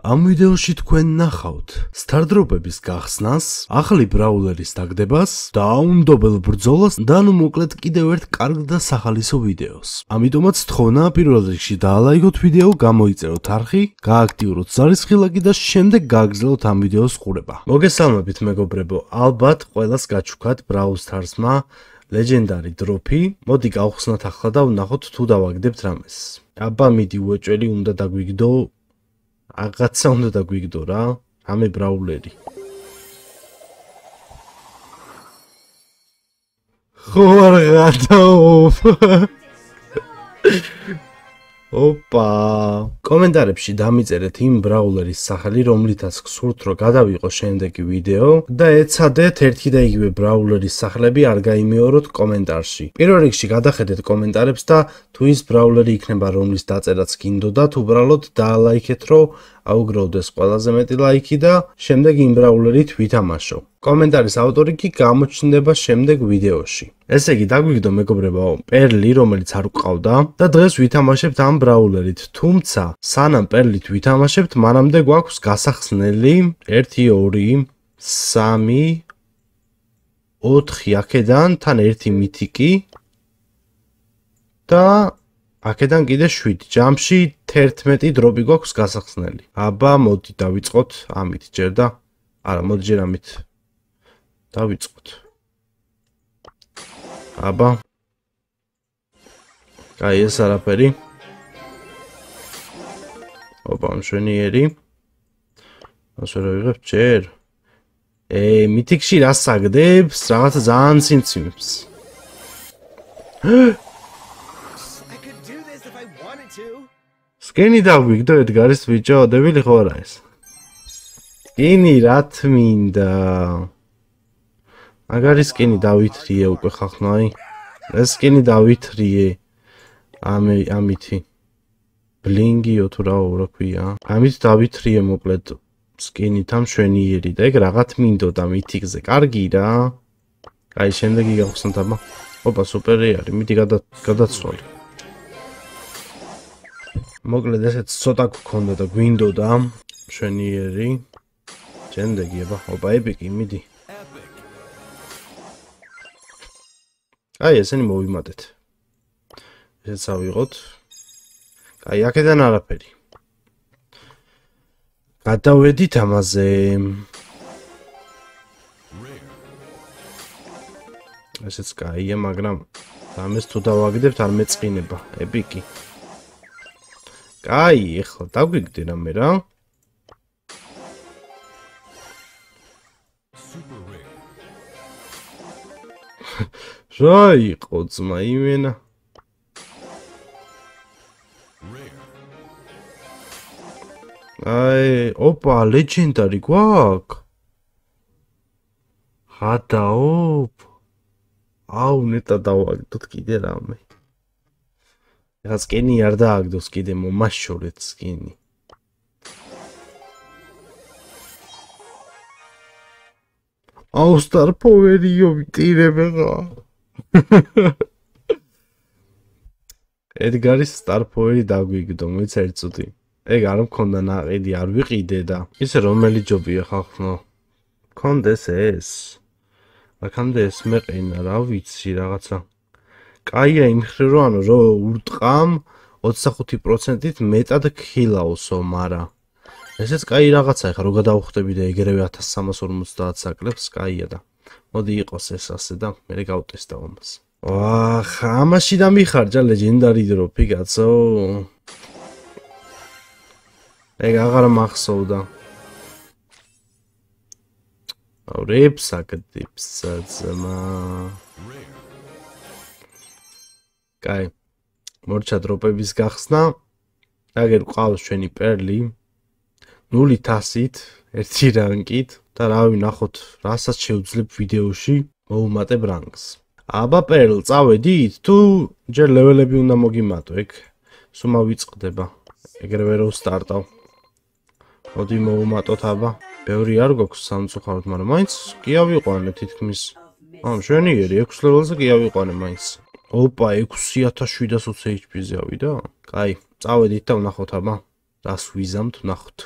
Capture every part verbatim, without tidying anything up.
ამ ვიდეოში თქვენ ნახავთ სტარდროპების გახსნას, ახალი ბრაულერის დაგდებას და აუნდობელ ბრძოლას და ნუ მოკლედ კიდევ ერთ კარგ და სახალისო ვიდეოს. ამიტომაც თხოვნა პირველ რიგში დაალაიქოთ ვიდეო, გამოიწეროთ არხი, გააქტიუროთ ზარისხილაკი და შემდეგ გააგრძელოთ ამ ვიდეოს ყურება. მოგესალმებით მეგობრებო, ალბათ ყველას გაჩუქათ Brawl Stars-მა ლეგენდარი დროფი. მოდი გავხსნათ ახლა და ვნახოთ თუ დავაგდებთ რამეს. აბა მიდი უეჭველი უნდა დაგვიგდო. Რაღაცა უნდა დაგვიგდო რა, ამე ბრაულერი. ხო არ გადაოფ. ოპა. კომენტარებში დამიწერეთ იმ ბრაულერის სახელი, რომლითაც გსურთ რომ გადავიყო შემდეგი ვიდეო და ეცადეთ ერთი და იგივე ბრაულერის სახლები არ გაიმეოროთ კომენტარში. პირველ რიგში გადახედეთ კომენტარებს და თუ ის ბრაულერი იქნება რომლის დაწერაც გინდოდათ, უბრალოდ დაალაიქეთ რომ აუგროვდეს ყველაზე მეტი ლაიქი და შემდეგ იმ ბრაულერით ვითამაშო. კომენტარის ავტორი კი გამოჩნდება შემდეგ ვიდეოში. ესე იგი დაგვიგდო მეგობრებო პერლი, რომელიც არ გვყავდა და დღეს ვითამაშებთ ამ ბრაულერით. თუმცა სანამ პერლით ვითამაშებთ, მანამდე გვაქვს გასახსნელი ერთი, ორი, სამი, ოთხი აქედან, თან ერთი მითიკი და აქედან კიდე შვიდი. ჯამში თერთმეტი დროპი გვაქვს გასახსნელი. აბა მოდი დავიწყოთ ამით ჯერ და არა, მოდი ჯერ ამით დავიწყოთ. აბა. აი ეს არაფერი. ოპა, მშვენიერი. ასე რა ვიღებ ჯერ. ე, მითიკში რა საგდებს? რაღაცა ძალიან სიმციმებს. სკენი დაგვიგდო ედგარის ბიჭო, დებილი ხო არა ეს? სკენი რა თმინდა? მაგარი სკენი დავითრიე უკვე ხახნაი. ეს სკენი დავითრიე. ამე ამითი. ბლინგიო თუ რა რა ქვია? ამით დავითრიე მოკლედ სკენით ამ შვენიერი და ეგ რაღაც მინდოდა მითიკზე. კარგი რა. აი შემდეგი გავხსნათ აბა. ოპა სუპერი არის. მიდი გადაცვალე. მოკლედ ესეც ცოტა გქონდა და გვინდოდა შვენიერი. შემდეგი აბა. ოპა ეპიკი მიდი. აი ესენი მოვიმატეთ. ესეც ავიღოთ. აი აქედან არაფერი. გადავედით ამაზე. ესეც კაია, მაგრამ ამას თუ დავაგდებთ არ მეწყინება. ეპიკი. კაი, ეხლა დაგვიგდი რამე რა. რა იყო ძმა იმენა? აი, ოპა, ლეგენდარი გვაქვს. ხადაოპ. აუ, ნეტა დავაგდოთ კიდე რამე. ეხლა სკენი არ დააგდოს კიდე, მომაშორეთ სკენი. აუ, სტარ პოვერიო ვიტირებ რა. ედგარის სტარ პოვერი დაგვიგდო, მოიცა ერთ წუთი. ეგ არ მქონდა ნაყიდი, არ ვიყიდე და ისე რომელი ჯობია ხახნო. მქონდეს ეს. აქამდე ეს მეყინა, რა ვიცი რაღაცა. კაია იმ ხრი რო ანუ რო ურტყამ ოცდახუთი პროცენტით მეტად ქილაოსო, მარა. ესეც კაი რაღაცა, ეხლა რო გადავხვდები და ეგრევე ათას სამას ორმოცდაათ საკლებს, კაია და. მოდი იყოს ეს ასე და მე გავტესტავ ამას. ვახ, ამაში დამიხარჯა ლეგენდარი დროფი, კაცო. ეგ აღარ მახსოვდა. ავრებს აკდებს ძმა. კაი. მორჩა დროპების გახსნა. აგერ ყავს ჩვენი პერლი. ნული თასით, ერთი რანკით და რა ვნახოთ, რასაც შევძლებ ვიდეოში, მოვუმატებ რანკს. აბა პერლ, წავედით? თუ ჯერ ლეველები უნდა მოგიმატო ეგ. სულ ვიწყდება. ეგრევე რო სტარტავ. მოდი მოვუმატოთ აბა. ბევრი არ გვაქვს სამწუხაროდ, მაგრამ მაინც კი ავიყვანე თითქმის. ამ შვენიერი ექვს ლეველზე კი ავიყვანე მაინც. ოპა, ექვსი ათას შვიდას ოცი ეიჩპი-ზე ავიდა? კაი, წავედით და ვნახოთ აბა. რას ვიზამთ, ვნახოთ.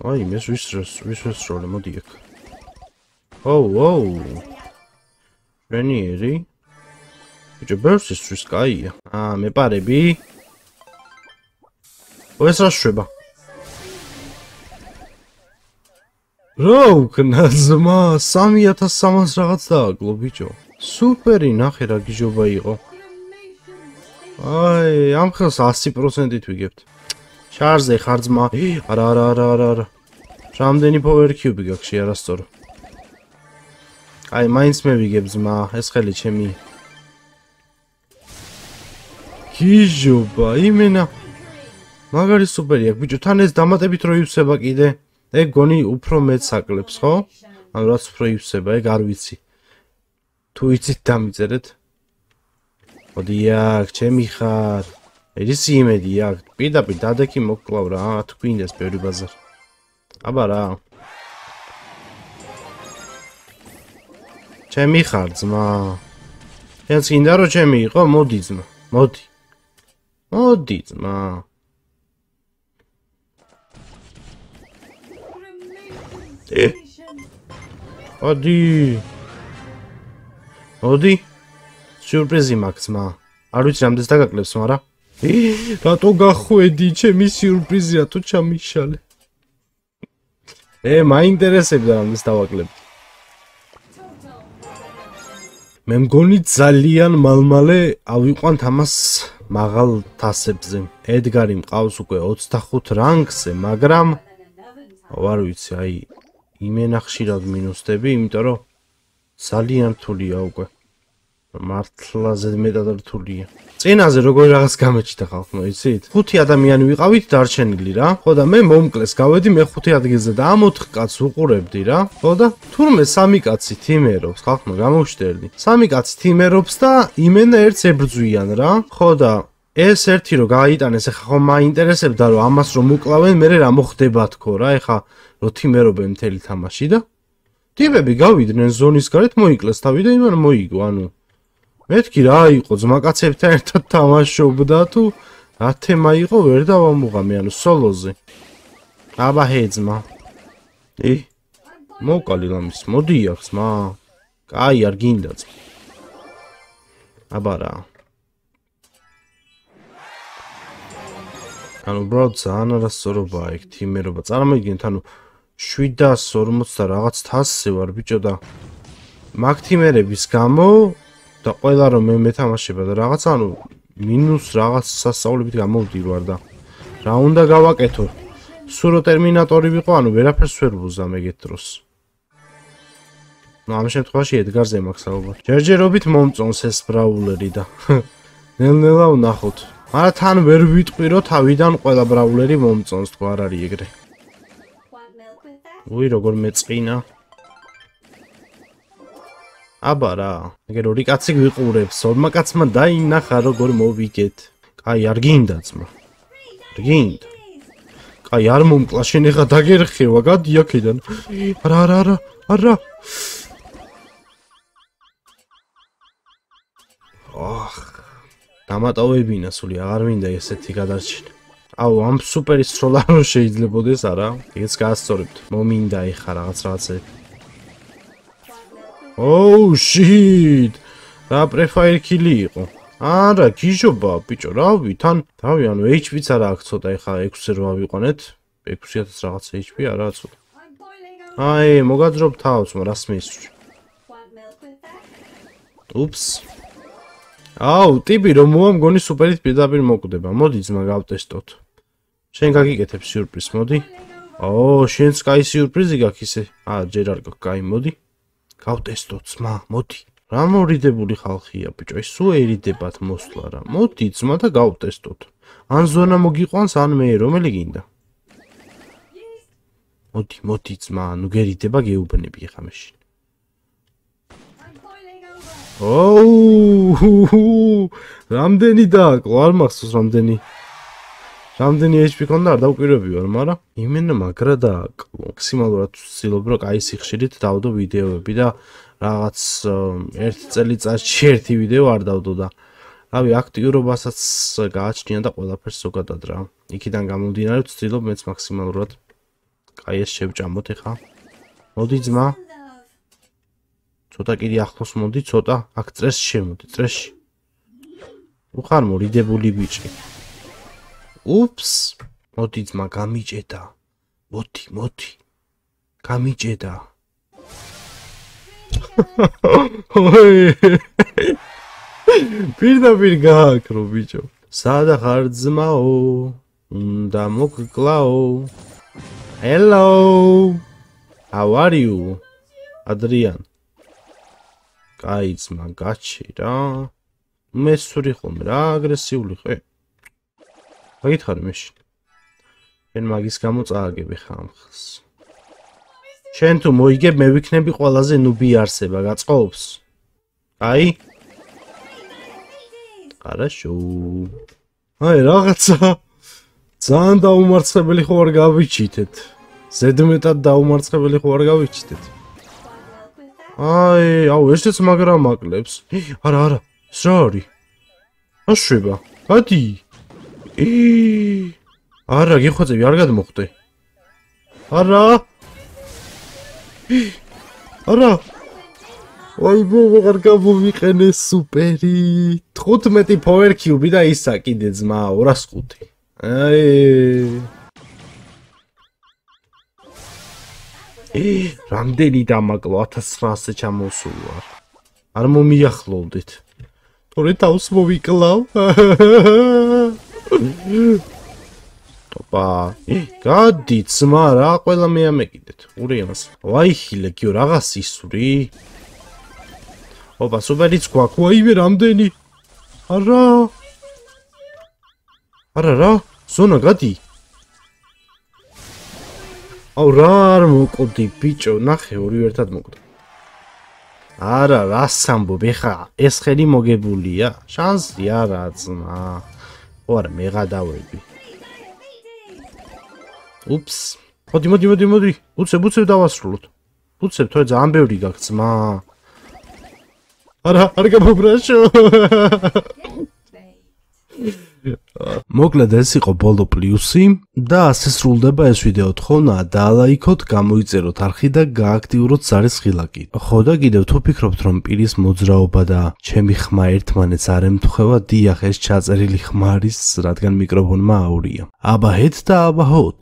აი, მე ვის ვის ვისროლე, მოდი აქ. ოუ, ოუ. რენიერი. ბიჭო, ბევრს ისთვის კაია. აა, მეპარები. ეს რა შვება? რა უკნა ზმა, სამი ათას სამას რაღაც დააკლო, ბიჭო. სუპერი, ნახე რა გიჟობა იყო. აი, ამ ხელს ასი პროცენტით ვიგებთ. შარზე ხარ ძმა. არა, არა, არა, არა, არა. რამდენი power cube გაქვს არასწორო. აი, მაინც მე ვიგებ ძმა, ეს ხელი ჩემი. გიჟობა, იმენა. მაგარი სუპერი აქვს, ბიჭო, თან ეს დამატებით რო ივსება კიდე. ეგ გონი უფრო მეც აკლებს, ხო? ანუ რაც უფრო ივსება, ეგ არ ვიცი. თუ იცით დამიწერეთ. მოდი აქ, ჩემი ხარ. ეს იმედი აქ, პირდაპირ დადექი მოკლავ რა, თქვინდეს ბევრი ბაზარი. აბა რა. ჩემი ხარ ძმა. შენც გინდა რომ ჩემი იყო, მოდი ძმა, მოდი. მოდი ძმა. ე მოდი. მოდი. სიურპრიზი მაქვს ძმა. არ ვიცი რამდენს დაგაკლებს, მაგრამ ე რატო გახვედი, ჩემი სიურპრიზია თუ ჩამიშალე. ე მაინტერესებდა რამდენს დავაკლებდი. მე მგონი ძალიან მალმალე ავიყვანთ ამას მაღალ თასებზე. ედგარი მყავს უკვე ოცდახუთ რანგზე, მაგრამ არ ვიცი, აი იმენა ხშირად მინუსდები, იმიტომ რომ ძალიან რთულია უკვე. მართლა ზედმეტად რთულია. წინაზე როგორ რაღაც გამეჩნდა ხალხმა, იცით? ხუთი ადამიანი ვიყავით დარჩენილი რა. ხო და მე მომკლეს გავედი მეხუთე ადგილზე და ამ ოთხ კაცს უყურებდი რა. ხო და თურმე სამი კაცი თიმერობს, ხალხმა გამოვშტერდი. სამი კაცი თიმერობს და იმენა ერთს ებრძვიან რა. ხო და ეს ერთი რო გააიტანეს, ეხა ხომ მაინტერესებდა რომ ამას რომ უკლავენ, მე რა მოხდება თქო რა, ეხა რო თიმერობენ მთელი თამაში და ტიპები გავიდნენ ზონის გარეთ, მოიკლეს თავი და იმან მოიგო, ანუ მეთქი რა იყო, ძმაკაცებთან ერთად თამაშობდა თუ რა თემა იყო, ვერ დავამუღამე, ანუ სოლოზე. აბა ჰე ძმა. ე მოკალი ლამის, მოდი აქ ძმა. კაი არ გინდა ძმა. აბა რა. ანუ ბრო ძალიან არასწორობაა ეგ თიმერობა. წარმოგიდგენთ, ანუ შვიდას ორმოცი და რაღაც თასზე ვარ ბიჭო და მაგ თიმერების გამო და ყველა რომ მე მეთამაშება და რაღაც ანუ მინუს რაღაც სასწაულებით გამოვდივარ და რა უნდა გავაკეთო? სურო ტერმინატორი ვიყო, ანუ ვერაფერს ვერ ვუზამ ეგეთ დროს. ნუ ამ შემთხვევაში ედგარზე მაქვს ალბათ. ჯერჯერობით მომწონს ეს ბრაულერი და ნელ-ნელა ვნახოთ. მაგრამ თან ვერ ვიტყვი რომ თავიდან ყველა ბრაულერი მომწონს, თქო არ არის ეგრე. უი როგორ მეწყინა. აბა რა, ეგ ორი კაცი გვიყურებს, ორმა კაცმა დაინახა როგორ მოვიგეთ. კაი არ გინდა ძმა. არ გინდა. კაი არ მომკლა, შენ ეხა დაგერხევა, გადი აქედან. არა, არა, არა, არა. ოხ. დამატოვებინა სული, აღარ მინდა ესეთი გადარჩენა. აუ, ამ სუპერი სროლა რო შეიძლებოდეს, არა? ეგეც გაასწორებთ. მომინდა ეხა რაღაც რაღაცები. ოუ, შიტ. რა პრეფაერ კილი იყო? არა, გიჟობა, ბიჭო, რავი, თან, რავი, ანუ ეიჩ პიც არა აქვს ცოტა, ეხა ექვსი რო ავიყვანეთ. ექვსი ათას რაღაც ეიჩ პი არაა ცოტა. აი, მოგაძრობ თავს, მაგრამ რას მეისვრი? უფს. აუ, ტიპი რომ მოა მგონი სუპერით პირდაპირ მოკვდება. მოდი ძმა გავტესტოთ. შენ გაგიკეთებ სიურპრიზს, მოდი. აუ, შენც კაი სიურპრიზი გაქვს ისე. აა, ჯერ არ გაქვს, კაი, მოდი. გავტესტოთ ძმა, მოდი. რა მორიდებული ხალხია, ბიჭო, ეს სულ ერიდებათ მოსვლა რა. მოდი ძმა და გავტესტოთ. ან ზონა მოგიყვანს, ან მე, რომელი გინდა? მოდი, მოდი ძმა, ნუ გერიდება გეუბნები ხა მაშინ. ოუ, რამდენი დააკლო, არ მახსოვს რამდენი. რამდენი ეიჩ პი ქონდა, არ დავკვირვები ვარ, მაგრამ იმენა მაგრა დააკლო. მაქსიმალურად ვცდილობ, რომ კაი სიხშირით დავდო ვიდეოები და რაღაც ერთ წელიწადში ერთი ვიდეო არ დავდო და რავი, აქტიურობასაც გააჩნია და ყველაფერს ზოგადად რა. იქიდან გამომდინარე ვცდილობ მეც მაქსიმალურად კაი, ეს შევჭამოთ ეხა. მოდი ძმა. ცოტა კიდე ახლოს მოდი, ცოტა. აქ წრესში შემოდი, წრესში. უხარ მორიდებული ბიჭი. უფს. მოდი ძმა, გამიჭედა. მოდი, მოდი. გამიჭედა. პირდაპირ გააკრო ბიჭო. სადა ხარ ძმაო? უნდა მოგკლაო. Hello. How are you? Adrian. კაი ძმა, გაჩი რა. მესური ხომ რა აგრესიული ხე? მაგითხარი მეშინ. შენ მაგის გამო წააგები ხამხს. შენ თუ მოიგებ, მე ვიქნები ყველაზე ნუბი არსება, გაწყობს? აი? Хорошо. აი, რაღაცა ძალიან დაუმარცხებელი ხო არ გავიჩითეთ. ზედმეტად დაუმარცხებელი ხო არ გავიჩითეთ. აი, აუ, ესეც მაგრამ აკლებს. არა, არა, ეს რა არის? აშვება. გადი. არა, გიხვეწები, არ გადმოხდე. არა. არა. აი, ვეღარ გამოვიყენე სუპერი. თხუთმეტი power cube და ისა კიდე ძმა ორას ხუთი. აი. რამდენი დამაკლო ათას ცხრაასზე ჩამოსულ ვარ. არ მომიახლოვდით. თორე თავს მოვიკლავ. ტოპა. გადი ძმა რა, ყველა მე ამეკიდეთ. ურიამას. ვაიხილე, გიო რაღაც ისური. ოპა, სუპერიც გვაქვს. ვაიმე რამდენი? არა. არა რა, ზონა გადი. აუ რა არ მოკვდი ბიჭო, ნახე ორი ერთად მოკვდა. არა, რას ამბობ, ეხა ეს ხელი მოგებულია? შანსი არა ძმა. ხო არა, მე გადავედი. უფს. მოდი, მოდი, მოდი, მოდი. უცებ, უცებ დავასრულოთ. უცებ, თორე ძალიან ბევრი გაქვს ძმა. არა, არ გამობრაშო. მოკლედ ეს იყო ბოლო პლუსი და ასე სრულდება ეს ვიდეო. თხოვნა დაალაიქოთ, გამოიწეროთ არხი და გააქტიუროთ ზარის ღილაკი. ხო და კიდევ თუ ფიქრობთ რომ პირის მოძრაობა და ჩემი ხმა ერთმანეთს არ ემთხვევა, დიახ, ეს ჩაწერილი ხმა არის, რადგან მიკროფონმა აურია. აბა ჰეთ და აბა ჰოთ.